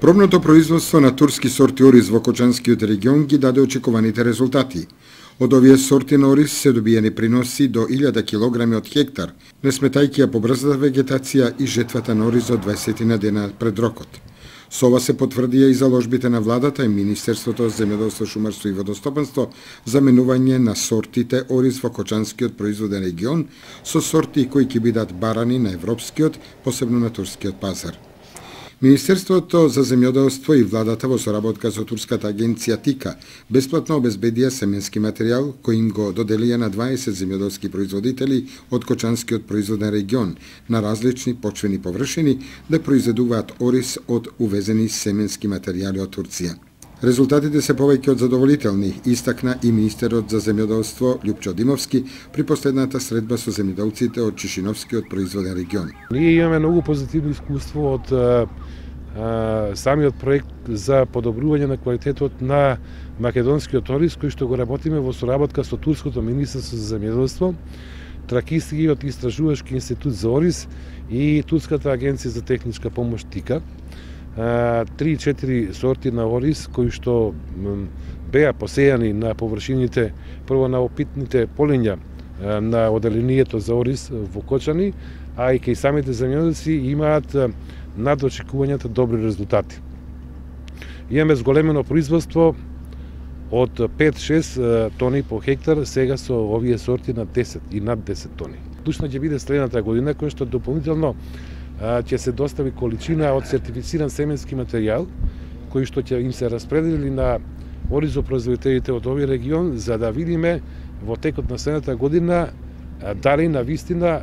Пробното производство на турски сорти ориз во Кочанскиот регион ги даде очекуваните резултати. Од овие сорти на ориз се добиени приноси до 1000 килограми од хектар, не сметајќи ја побрзата вегетација и жетвата на ориз од 20 дена пред рокот. Со ова се потврдија и заложбите на владата и Министерството за земјоделство, шумарство и водостопанство за менување на сортите ориз во Кочанскиот производен регион со сорти кои ќе бидат барани на европскиот, посебно на турскиот пазар. Министерството за земјоделство и владата во соработка со турската агенција ТИКА бесплатно обезбедија семенски материјал кој им го доделија на 20 земјоделски производители од Кочанскиот производен регион на различни почвени површини да произведуваат ориз од увезени семенски материјали од Турција. Резултатите се повеќе од задоволителни, истакна и министерот за земјоделство Љупчо Димовски при последната средба со земјоделците од Чишиновскиот производен регион. Ние имаме многу позитивно искуство од самиот проект за подобрување на квалитетот на македонскиот ориз, кој што го работиме во соработка со турското министерство за земјоделство, Тракискиот истражувачки институт за ориз и турската агенција за техничка помош ТИКА. 3-4 сорти на ориз кои што беа посејани на површините прво на опитните полиња на оделението за ориз во Кочани, а и кај самите земјоделци имаат над очекувањата добри резултати. Имаме зголемено производство од 5-6 тони по хектар, сега со овие сорти на 10 и над 10 тони. Клучна ќе биде следната година, која што дополнително ќе се достави количина од сертифициран семенски материјал, кој што ќе им се распредели на оризопроизводителите од овој регион, за да видиме во текот на следната година дали на вистина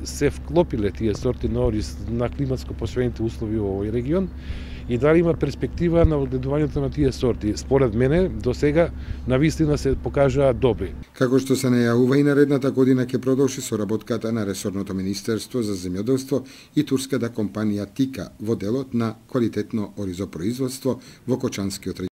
се вклопиле тие сорти на ориз на климатско посвоените услови во овој регион и дали има перспектива на одгледувањето на тие сорти. Според мене, до сега на вистина се покажаа добри. Како што се најавува и наредната година ќе продолжи соработката на ресорното Министерство за земјоделство и турската компанија ТИКА во делот на квалитетно оризопроизводство во Кочанскиот регион.